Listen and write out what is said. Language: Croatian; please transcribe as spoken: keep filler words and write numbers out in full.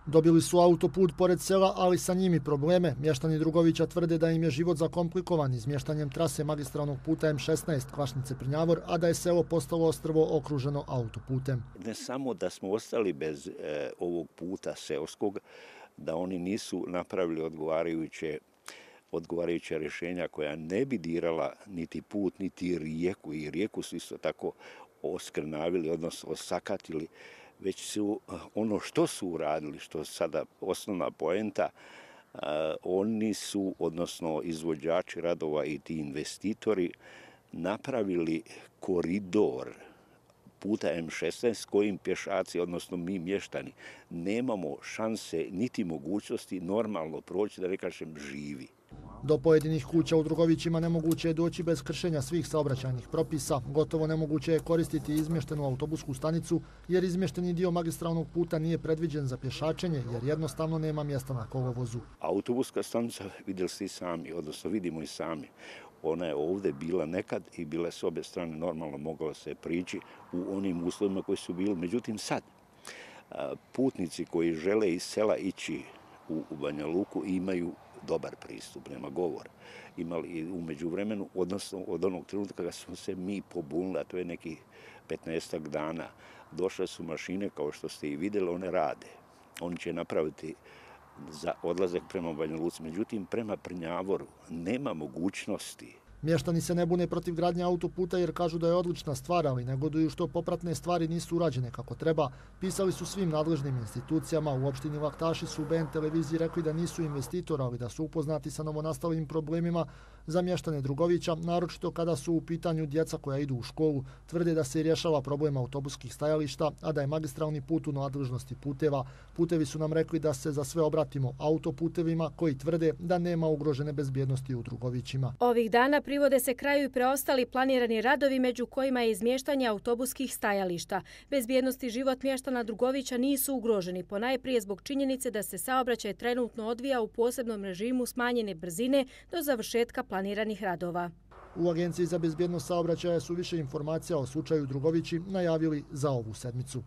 Dobili su autoput pored sela, ali sa njimi probleme. Mještani Drugovića tvrde da im je život zakomplikovan izmještanjem trase magistralnog puta M šesnaest Kvašnice-Prnjavor, a da je selo postalo ostrvo okruženo autoputem. Ne samo da smo ostali bez e, ovog puta seoskog, da oni nisu napravili odgovarajuće odgovarajuća rješenja koja ne bi dirala niti put, niti rijeku. I rijeku su isto tako oskrnavili, odnosno osakatili, već su ono što su uradili, što je sada osnovna poenta, oni su, odnosno izvođači radova i ti investitori, napravili koridor puta M šesnaest kojim pješaci, odnosno mi mještani, nemamo šanse niti mogućnosti normalno proći, da ne kažem živi. Do pojedinih kuća u Drugovićima nemoguće je doći bez kršenja svih saobraćajnih propisa. Gotovo nemoguće je koristiti izmještenu autobusku stanicu jer izmješteni dio magistralnog puta nije predviđen za pješačenje jer jednostavno nema mjesta na kolovozu. Autobuska stanica, vidjeli ste i sami, odnosno vidimo i sami, ona je ovdje bila nekad i bile s obje strane normalno moglo se prići u onim uslovima koji su bili. Međutim sad, putnici koji žele iz sela ići u Banja Luku imaju dobar pristup, nema govora. Imali u međuvremenu, odnosno od onog trenutka kada smo se mi pobunili, a to je nekih petnaestak dana, došle su mašine, kao što ste i vidjeli, one rade. Oni će napraviti za odlazak prema Banja Luci, međutim prema Prnjavoru nema mogućnosti. Mještani se ne bune protiv gradnje autoputa jer kažu da je odlična stvar, ali negoduju što popratne stvari nisu urađene kako treba. Pisali su svim nadležnim institucijama. U opštini Laktaši su u B N televiziji rekli da nisu investitori, ali da su upoznati sa novonastalim problemima za mještane Drugovića, naročito kada su u pitanju djeca koja idu u školu. Tvrde da se rješava problem autobuskih stajališta, a da je magistralni put u nadležnosti puteva. Putevi su nam rekli da se za sve obratimo autoputevima koji tvrde da nema ugrožene bezbjednosti u Drugovićima. Ovih dana privode se kraju i preostali planirani radovi, među kojima je izmještanje autobuskih stajališta. Bezbjednost i život mještana Drugovića nisu ugroženi, ponajprije zbog činjenice da se saobraćaj trenutno odvija u posebnom režimu smanjene brzine do završetka planiranih radova. U Agenciji za bezbjednost saobraćaja su više informacija o slučaju Drugovići najavili za ovu sedmicu.